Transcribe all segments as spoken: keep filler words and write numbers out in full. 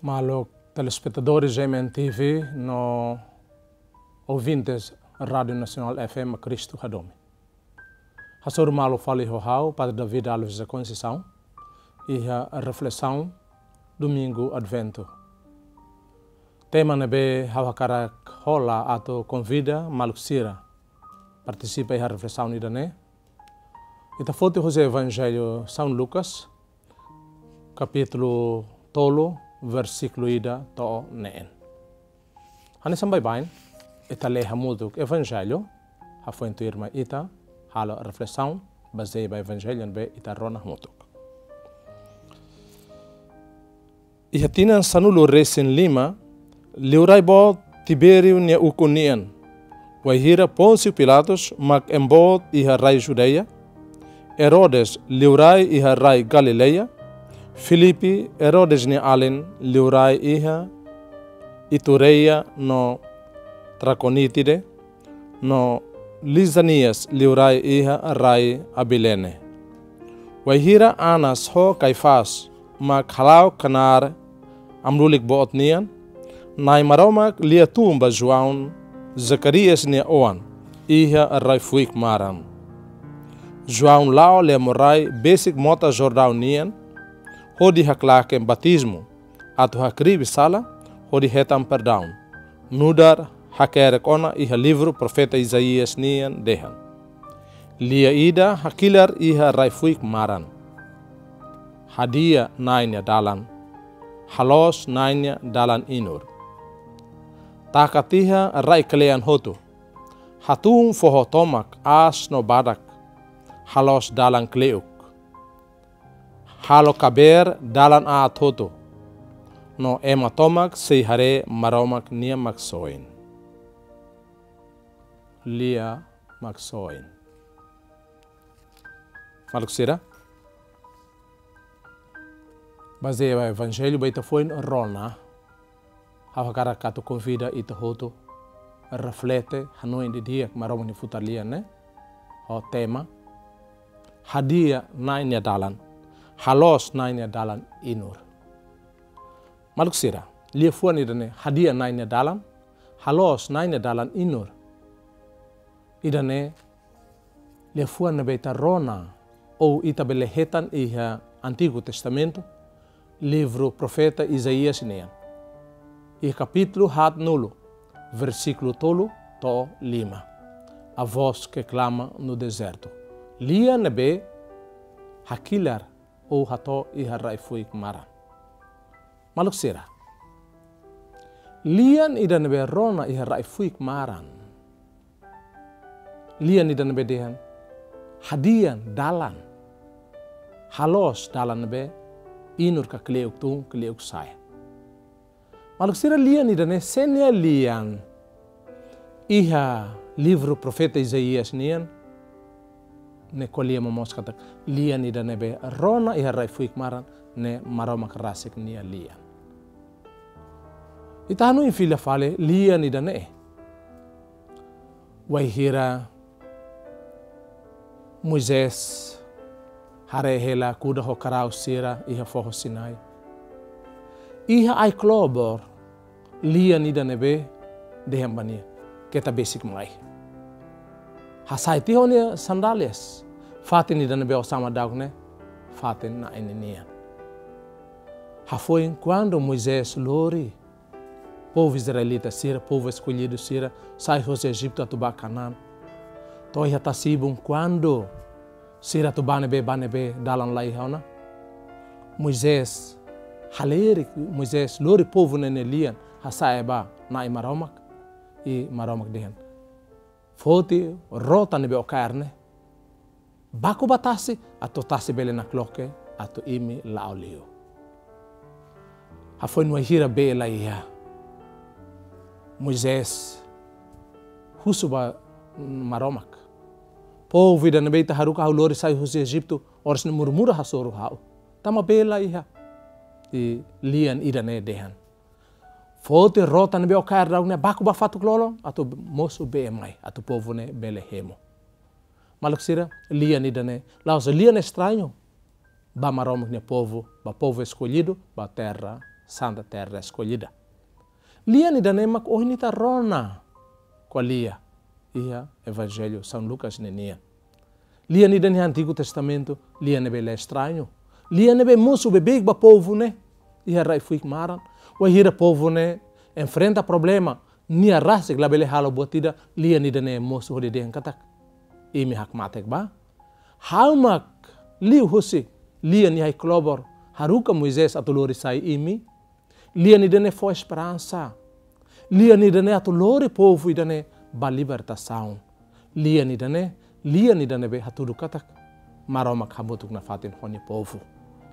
Maluk telespetadores G M N T V no ouvintes Rádio Nasionál F M Cristo Hadomi. Hasoru malu fali ho ha'u, Padre David Alves da Conceição, iha reflesaun Domingu Adventu. Tema ne'ebé ha'u hakarak hola atu konvida maluk sira partisipa iha reflesaun ida-ne'e, ita foti husi Evanjellu São Lucas, kapítulu tolu, versíkulu ida to'o neen. Hanesan baibain, ita lee hamutuk Evanjellu, hafoin tuirmai ita halo reflesaun bazeia ba Evanjellu ne'ebé ita rona hamutuk. Iha tinan sanulu-resin-lima, liurai boot Tibériu nia ukun nian, wainhira Pônsiu Pilatus mak ema boot iha rai Judeia, Herodes liurai iha rai Galileia, Filipe, Herodes nia alin, liurai iha Itureia no Trakonítide, no Lisanias liurai iha rai Abilene. Wainhira Anas ho Kaifás mak hala'o knaar amu-lulik boot nian, Na'i Maromak lia tun ba João, Zacarias nia oan, iha rai-fuik maran. João la'o lemo rai besik mota Jordaun nian, hodi haklaken batizmu, atu hakribi sala, hodi hetan perdaun. Nu'udar hakerek ona iha livru profeta Isaías nian dehan: Lia ida hakilar iha rai-fuik maran. Hadi'a Na'i nia dalan. Haloos Na'i nia dalan inur. Taka tiha rai kle'an hotu. Hatún foho tomak, aas no badak. Haloos dalan kle'uk. Halo kabeer dalan aat hotu, no ema tomak sei haree Maromak nia Maksoin. Lia Maksoin. Maluk sira, bazeia ba Evanjellu ne'ebé ita foin rona, ha'u hakarak atu konvida ita hotu reflete, hanoin didi'ak Maromak nia futar lian ne'e, ho tema: Hadi'a Na'i nia dalan, haloos Na'i nia dalan inur. Maluk sira, liafuan ida-ne'e, hadi'a Na'i nia dalan, haloos Na'i nia dalan inur. Ida-ne'e liafuan ne'ebé ita rona, ou ita bele hetan iha Antigu Testamentu, livru profeta Isaías nian. Iha kapítulu haatnulu, versíkulu tolu to'o lima. A voz que clama no deserto. Lian ne'ebé hakilar ou hato'o iha rai-fuik maran. Maluk sira, lian ida ne'ebé rona iha rai-fuik maran. Lian ida ne'ebé dehan: Hadi'a dalan. Haloos dalan ne'ebé inur ka kle'uk tun, kle'uk sa'e. Maluk sira, lian ida-ne'e sé nia lian? Iha livru profeta Isaías nian, ne'e ko'alia momoos katak lian ida ne'ebé rona iha rai-fuik maran ne'e Maromak rasik nia lian. Ita hanoin fila fali lian ida-ne'e. Wainhira Moisés haree hela kuda ho karau sira iha foho Sinai, iha ai-klobor, lian ida ne'ebé dehan ba nia: Keta besik mai. Hasai tiha ó-nia sandálias. Fatin ida ne'ebé ó sama daudauk ne'e fatin Na'i nian. Hafoin kuandu Moisés lori povu israelita sira, povu eskollidu sira, sai husi Ejitu atu bá Kanaan, to'o iha tasi-ibun, kuandu sira atu bá ne'ebé, bá ne'ebé, dalan la iha ona, Moisés halerik, Moisés lori povu ne'e nia lian, hasa'e ba Na'i Maromak, i Maromak dehan: Foti rota ne'ebé ó kaer ne'e, baku ba tasi, atu tasi bele nakloke, atu imi la'o liu. Hafoin wainhira bee la iha, Moisés husu ba Maromak: Povu ida ne'ebé Ita haruka ha'u lori sai husi Ejitu, oras ne'e murmura hasoru ha'u, tanba bee la iha. I lian ida-ne'e dehan: Foti rota ne'ebé ó kaer daudauk ne'e, baku ba fatuk-lolon, atu mosu bee mai, atu povu ne'e bele hemu. Maluk sira, lian ida-ne'e la'ós lian estrañu ba Maromak nia povu, ba povu eskollidu, ba terra Santa Terra Escolhida. Lian ida-ne'e mak ohin ita rona ko'alia iha Evanjellu São Lucas ninian. Lian ida-ne'e iha Antigu Testamentu, lian ne'ebé la estrañu. Lian ne'ebé mosu beibeik ba povu ne'e iha rai-fuik maran. Wainhira povu ne'e enfrenta problema, nia rasik labele halo buat ida, lian ida-ne'e mosu hodi dehan katak: Imi hakmatek bá. Ha'u mak liuhusi lian iha ai-klobor haruka Moisés atu lori sai imi. Lian ida-ne'e fó esperansa. Lian ida-ne'e atu lori povu ida-ne'e ba libertasaun. Lian ida-ne'e, lian ida ne'ebé hatudu katak Maromak hamutuk nafatin ho nia povu.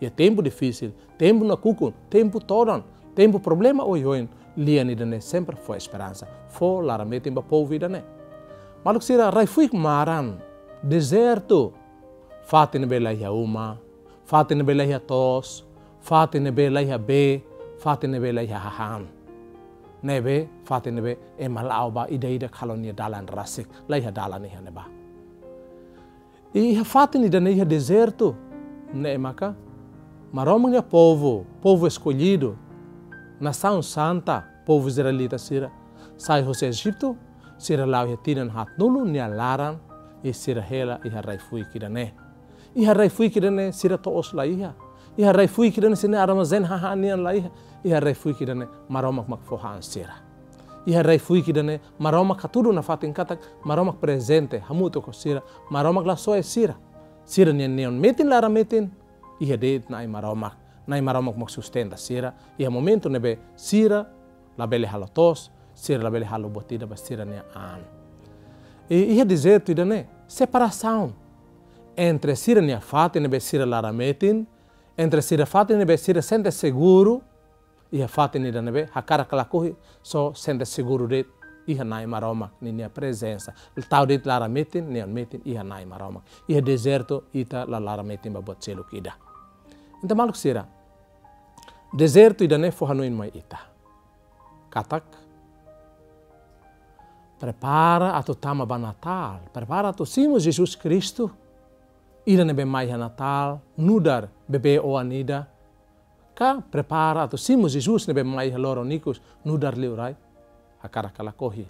Iha tempu difisil, tempu nakukun, tempu todan, tempu problema oioin, lian ida-ne'e sempre fó esperansa, fó laran-metin ba povu ida-ne'e. Maluk sira, rai-fuik maran, dezertu, fatin ne'ebé la iha uma, fatin ne'ebé la iha to'os, fatin ne'ebé la iha bee, fatin ne'ebé la iha hahán. Ne'ebé, fatin ne'ebé ema la'o ba ida-idak halo nia dalan rasik, la iha dalan iha ne'ebá. I iha fatin ida-ne'e iha dezertu, ne'e maka Maromak nia povu, povu eskollidu, nasaun santa, povu israelita sira, sai husi Ejitu, sira la'o iha tinan haatnulu nia laran, i sira hela iha rai-fuik ida-ne'e. Iha rai-fuik ida-ne'e sira to'os la iha. Iha rai-fuik ida-ne'e sira-nia armazén hahán nian la iha. Iha rai-fuik ida-ne'e Maromak mak fó han sira. Iha rai-fuik ida-ne'e Maromak hatudu nafatin katak Maromak prezente hamutuk ho sira, Maromak la soe sira. Sira-nia neon metin laran-metin iha de'it Na'i Maromak. Na'i Maromak mak sustenta sira iha momentu ne'ebé sira labele halo to'os, sira labele halo buat ida ba sira-nia an. I iha dezertu ida-ne'e, separasaun entre sira-nia fatin ne'ebé sira laran-metin, entre sira fatin ne'ebé sira sente seguru, iha fatin ida ne'ebé hakarak ka lakohi só sente seguru de'it iha Na'i Maromak ninia prezensa. Tau de'it laran-metin, neon metin iha Na'i Maromak. Iha dezertu ita la laran-metin ba buat seluk ida. Entaun maluk sira, dezertu ida-ne'e fó hanoin mai ita katak prepara atu tama ba Natál, prepara atu simu Jesus Kristu, ida ne'ebé mai iha Natál, nu'udar bebé oan ida, ka prepara atu simu Jesus ne'ebé mai iha loron ikus, nu'udar liurai, hakarak ka lakohi,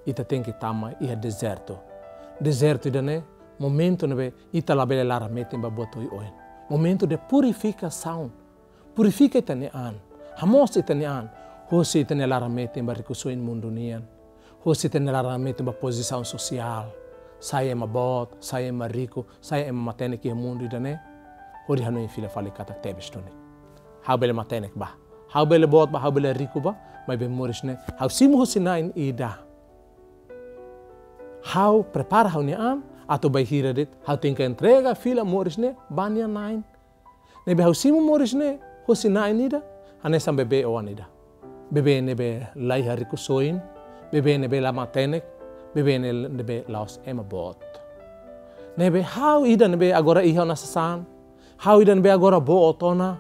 ita tenke tama iha dezertu. Dezertu ida-ne'e momentu ne'ebé ita labele laran-metin ba buat oioin. Momentu de purifikasaun. Purifika ita-nia an. Hamoos ita-nia an. Husi ita-nia laran-metin ba rikusoin mundu nian. Husi ita-nia laran-metin ba pozisaun sosiál. Sai ema boot, sai ema riku, sai ema matenek iha mundu ida-ne'e. Hodi hanoin fila fali katak tebes duni. Ha'u bele matenek bá. Ha'u bele boot bá, ha'u bele riku bá, maibé moris ne'e ha'u simu husi na'in ida. Ha'u prepara ha'u-nia an, atu bainhira de'it, ha'u tenke entrega fila moris ne'e ba nia na'in. Ne'ebé ha'u simu moris ne'e husi na'in ida, hanesan bebé oan ida. Bebé ne'ebé la iha rikusoin, bebé ne'ebé la matenek, bebé ne'e, ne'ebé la'ós ema boot. Ne'ebé ha'u ida ne'ebé agora iha ona sasán, ha'u ida ne'ebé agora boot ona,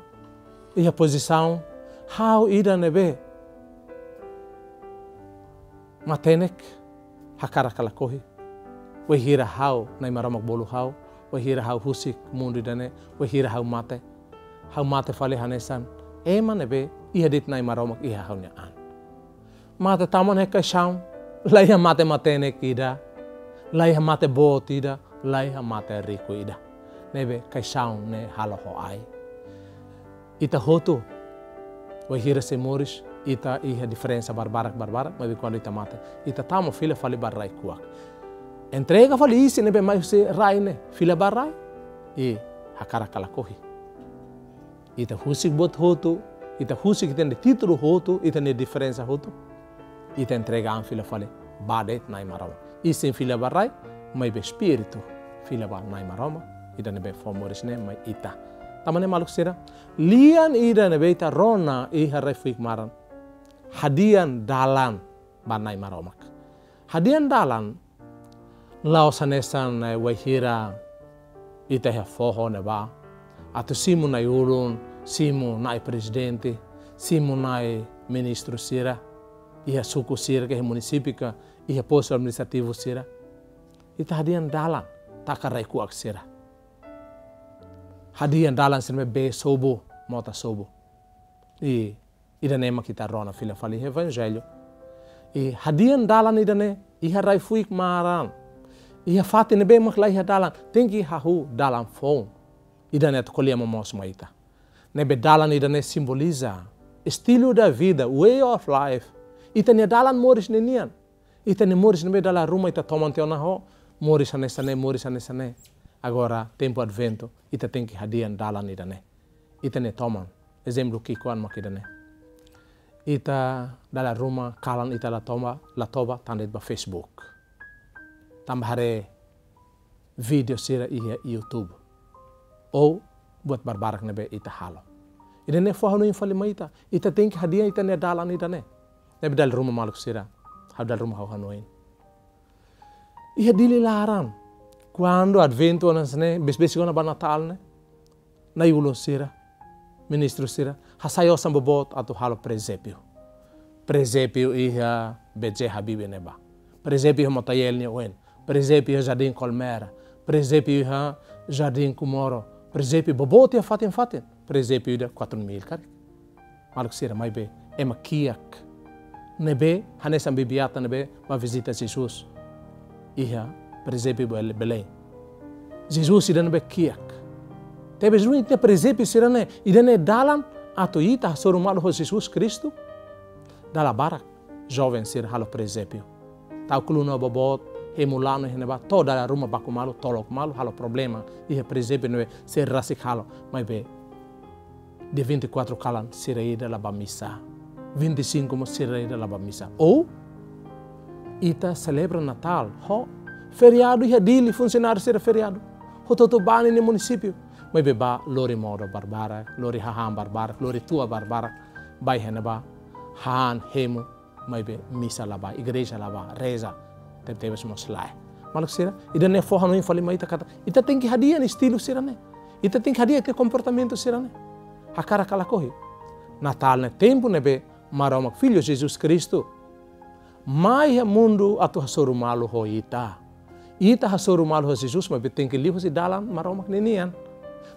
iha pozisaun, ha'u ida ne'ebé matenek, hakarak ka lakohi. Wainhira ha'u, Na'i Maromak bolu ha'u, wainhira ha'u husik mundu ida-ne'e, wainhira ha'u mate, ha'u mate fali hanesan ema ne'ebé iha de'it Na'i Maromak iha ha'u-nia an. Mate tama ona iha kaixaun, la iha mate matenek ida, la iha mate boot ida, la iha mate riku ida. Ne'ebé kaixaun ne'e halo ho ai. Ita hotu, wainhira sei moris, ita iha diferensa barbarak-barbarak, maibé kuandu ita mate, ita tama fila fali ba rai kuak. Entrega fali isin ne'ebé mai husi rai ne'e, fila ba rai, i hakarak ka lakohi. Ita husik buat hotu, ita husik ita-nia títulu hotu, ita-nia diferensa hotu. Ita entrega an fila fali ba de'it Na'i Maromak. Isin fila ba rai, maibé espíritu fila ba Na'i Maromak, ida ne'ebé fó moris ne'e mai ita. Tanba ne'e maluk sira, lian ida ne'ebé ita rona iha rai-fuik maran, hadi'a dalan ba Na'i Maromak. Hadi'a dalan la'ós hanesan, eh, wainhira ita iha foho ne'ebá, atu simu na'i-ulun, simu na'i prezidente, simu na'i ministru sira, iha suku sira ka iha munisípiu ka iha postu administrativu sira. Ita hadi'a dalan, taka rai kuak sira. Hadi'a dalan sira ne'ebé bee sobu, mota sobu. I Ida-ne'e mak ita rona fila fali Evanjellu. I hadi'a dalan ida-ne'e, iha rai-fuik maran, iha fatin ne'ebé mak la iha dalan, tenke hahú dalan foun. Ida-ne'e atu ko'alia momoos mai ita. Ne'ebé dalan ida-ne'e simboliza estilo de vida, way of life. Ita-nia dalan moris ninian. Ita-nia moris ne'ebé dala ruma ita toman tiha ona ho moris hanesan ne'e, moris hanesan ne'e. Agora, tempu Adventu, ita tenke hadi'a dalan ida-ne'e. Ita-nia toman, ezemplu ki'ikoan mak ida-ne'e. Ita dala ruma kalan ita la toba, la toba, tanba ita ba Facebook. Tanba haree vídeo sira iha YouTube. Ou buat barbarak ne'ebé ita halo. Ida-ne'e fó hanoin fali mai ita. Ita tenke hadi'a ita-nia dalan ida-ne'e. Ne'ebé dala ruma maluk sira, ha'u dala ruma ha'u hanoin. Iha Dili laran, kuandu Adventu hanesan ne'e, besik-besik ona ba Natál ne'e, na'i-ulun sira, ministru sira, hasai osan boboot atu halo prezépiu. Prezépiu iha B J Habibie ne'ebá. Prezépiu iha Motael nia oin. Prezépiu iha Jardim Colmera. Prezépiu iha Jardim Comoro. Prezépiu boboot iha fatin-fatin. Prezépiu ida quatro mil karik. Maluk sira, maibé ema kiak ne'ebé hanesan bibi-atan ne'ebé ba vizita Jesus iha prezépiu Bel-, Belém. Jesus ida ne'ebé kiak. Tebes duni ita prezépiu sira-ne'e, ida-ne'e dalan atu ita hasoru malu ho Jesus Kristu. Dala barak joven sira halo prezépiu. Tau koluna boboot, hemu lanu iha ne'ebá, to'o dala ruma baku malu, tolok malu, halo problema iha prezépiu ne'ebé sira rasik halo, maibé dia vinte e quatro kalan sira ida la ba misa. Vinte e cinco mós sira ida la ba misa. Ou ita selebra Natál ho feriadu iha Dili, funsionáriu sira feriadu. Hotu-hotu ba ninia munisípiu. Maibé ba lori modo barbarak, lori hahán barbarak, lori tua barbarak. Ba iha ne'ebá, han, hemu, maibé misa la ba, igreja la ba, reza, tebetebes mós lae. Maluk sira, ida-ne'e fó hanoin fali mai ita katak ita tenke hadi'a estilu sira-ne'e. Ita tenke hadi'a ita-nia komportamentu sira-ne'e. Hakarak ka lakohi, Natál ne'e tempu ne'ebé Maromak Filho Jesus Kristu mai iha mundu atu hasoru malu ho ita. Ita hasoru malu ho Jesus, maibé tenke liuhusi dalan Maromak ninian.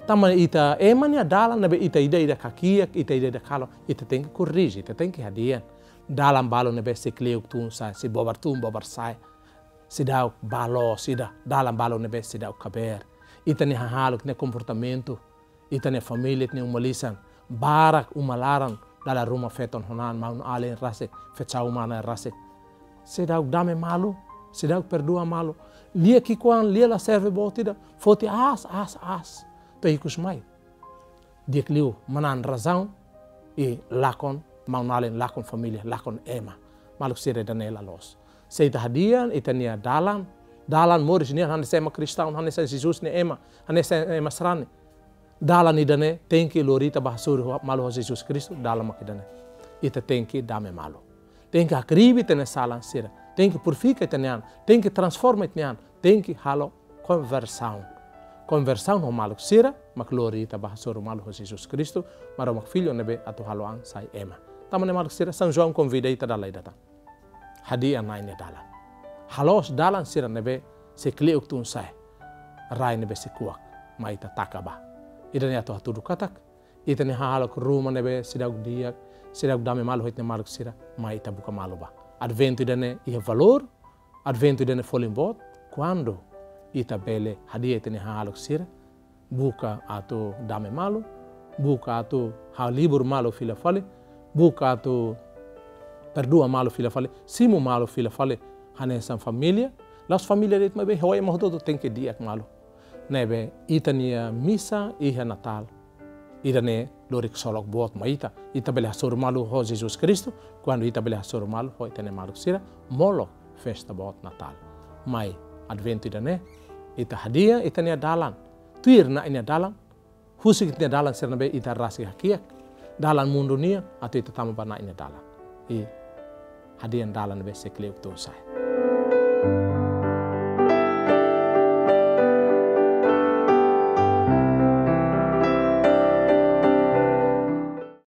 Tanba ita ema nia dalan ne'ebé ita ida-idak hakiak, ita ida-idak halo, ita tenke korrije, ita tenke hadi'a. Dalan balu ne'ebé sei kle'uk tun sa'e, sei bobar tun bobar sa'e, seidauk ba loos ida, dalan balu ne'ebé seidauk kabeer. Ita-nia hahalok, ita-nia komportamentu, ita-nia família, ita-nia uma lisan, barak uma laran, dala ruma feton-honan, maun-alin rasik, fecau-mana rasik. Seidauk dame malu, seidauk perdua malu. Lia ki'ikoan, lia la serve boot ida, foti aas, aas, aas. To'o ikus mai di'ak liu manán razaun, i lakon maun-alin, lakon família, lakon ema. Maluk sira, ida-ne'e la loos. Se ita hadi'a ita-nia dalan, dalan moris nian hanesan ema kristaun, hanesan Jesus nia ema, hanesan ema sarani. Dalan ida-ne'e tenke lori ita ba hasoru malu ho Jesus Kristu, dalan mak ida-ne'e. Ita tenke dame malu. Tenke hakribi ita-nia salan sira. Tenke purifika ita-nia an. Tenke transforma ita-nia an. Tenke halo konversaun. Konversaun ho maluk sira mak lori ita ba hasoru malu ho Jesus Kristu, Maromak Filho ne'ebé atu halo an sai ema. Tanba ne'e maluk sira, São João konvida ita dala ida tan. Hadi'a Na'i nia dalan. Haloos dalan sira ne'ebé sei kle'uk tun sa'e, rai ne'ebé sei kuak, mai ita taka ba. Ida-ne'e atu hatudu katak ita-nia hahalok ruma ne'ebé seidauk di'ak, seidauk dame malu ho ita-nia maluk sira, mai ita buka malu ba. Adventu ida-ne'e iha valór, Adventu ida-ne'e folin boot, kuandu ita bele hadi'a ita-nia hahalok sira, buka atu dame malu, buka atu halibur malu fila fali, buka atu perdua malu fila fali, simu malu fila fali, hanesan família, la'ós família de'it maibé ho ema hotu-hotu tenke di'ak malu. Ne'ebé ita-nia misa iha Natál, ida-ne'e lori ksolok boot mai ita. Ita bele hasoru malu ho Jesus Kristu, kuandu ita bele hasoru malu ho ita-nia maluk sira, molok festa boot Natál. Mai Adventu ida-ne'e, ita hadi'a ita-nia dalan, tuir Na'i nia dalan, husik ita-nia dalan sira ne'ebé ita rasik hakiak, dalan mundu nian, atu ita tama ba Na'i nia dalan. I hadi'a dalan ne'ebé sei kle'uk tun sa'e.